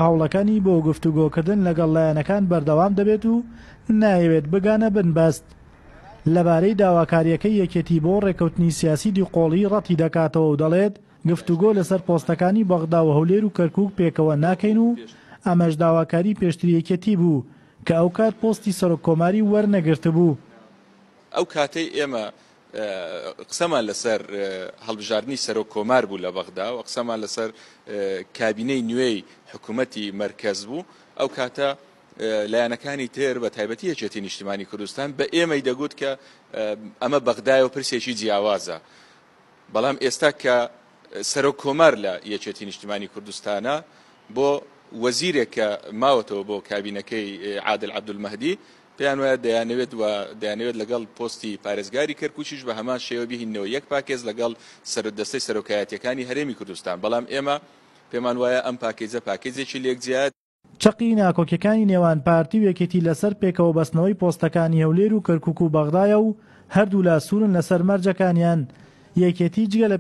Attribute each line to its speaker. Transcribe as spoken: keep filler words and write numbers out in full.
Speaker 1: هەوڵەکانی بۆ گفتوگۆکردن لەگەڵ لایەنەکان بەردەوام دەبێت و نایەوێت بگانە بنبەست. لەبارەی داواکارییەکەی یەکێتی بۆ ڕێککەوتنی سیاسی دووقۆڵی ڕەتی دەکاتەوە و دەڵێت، گفتوگۆ لەسەر پۆستەکانی بەغدا و هەولێر و کەرکوک پێکەوە ناکەین و ئەمەش داواکاری پێشتری یەکێتی بوو کە ئەوکات پۆستی سەرۆک کۆماری وەرنەگرتبوو.
Speaker 2: ئەو کاتەی ئێمە قسەمان لەسەر هەڵبژاردنی سەرۆک کۆمار بوو لە بەغدا و قسەمان لەسەر کابینەی نوێی حکوومەتی مەرکەز بوو، ئەو کاتە لایەنەکانی تر بە تایبەتی یەکێتی نیشتیمانی کوردستان بە ئێمەی دەگوت کە ئەمە بەغدایە و پرسێکی جیاوازە. بەڵام ئێستا کە سەرۆک کۆمار لە یەکێتی نیشتیمانی کوردستانە بۆ وەزیرێک کە ماوەتەوە بۆ کابینەکەی عادل عەبدولمەهدی، پێیان وایە دەیانەوێت و دەیانەوێت لەگەڵ پۆستی پارێزگاری کەرکوکیش بە هەمان شێوە بهیننەوە یەک پاکێز لەگەڵ دەستەی سەرۆکایەتیەکانی هەرێمی کوردستان. بەڵام ئێمە پێمان وایە ئەم پاکێجە پاکێجێکی لێکجیایە.
Speaker 1: چەقی ناکۆکیەکانی نێوان پارتی و یەکێتی لەسەر پێکەوە بەستنەوەی پۆستەکانی هەولێر و کەرکوک و بەغدایە و هەردوولا سوورن لەسەر مەرجەکانیان. یەکێتی جگە لە